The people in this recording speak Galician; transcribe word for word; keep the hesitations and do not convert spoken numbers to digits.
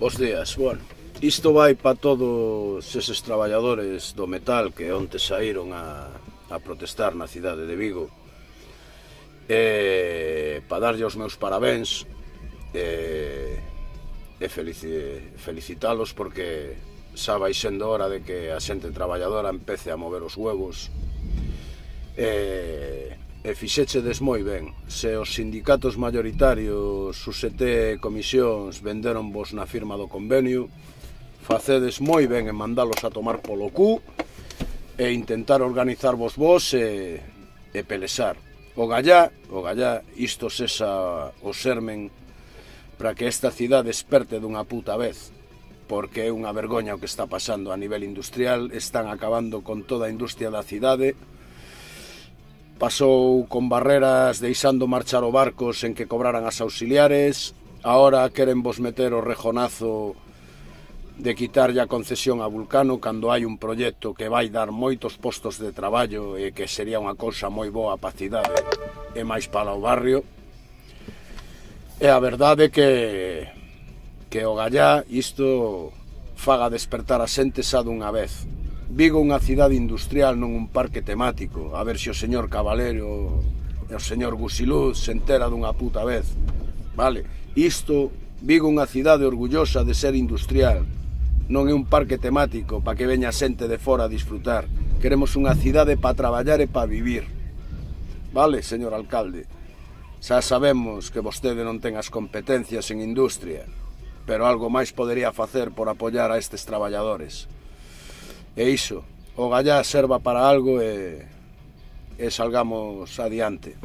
Bos días, bueno, isto vai para todos eses traballadores do metal que onte saíron a, a protestar na cidade de Vigo, e para darlle os meus parabéns e, e felici, felicitalos porque xa vai sendo hora de que a xente traballadora empece a mover os huevos. E, e fixéchedes moi ben. Se os sindicatos mayoritarios, os U T e comisións venderon vos na firma do convenio, facedes moi ben en mandalos a tomar polo cu e intentar organizarvos vos e, e pelexar. O gallá, o gallá, isto sexa o sermen para que esta cidade desperte dunha puta vez, porque é unha vergoña o que está pasando a nivel industrial. Están acabando con toda a industria da cidade. Pasou con Barreras deixando marchar o barcos en que cobraran as auxiliares. Ahora queren vos meter o rejonazo de quitarlle a concesión a Vulcano cando hai un proxecto que vai dar moitos postos de traballo e que sería unha cousa moi boa para a cidade e máis para o barrio. E a verdade é que que o gallá isto faga despertar a xente xa dunha vez. Vigo unha cidade industrial, non un parque temático. A ver se o señor Caballero e o señor Gusiluz se entera dunha puta vez. Vale, isto, Vigo unha cidade orgullosa de ser industrial. Non é un parque temático para que veña xente de fora a disfrutar. Queremos unha cidade para traballar e para vivir. Vale, señor alcalde? Xa sabemos que vostede non ten as competencias en industria, pero algo máis podería facer por apoiar a estes traballadores. E iso, o gallá serva para algo e, e salgamos adiante.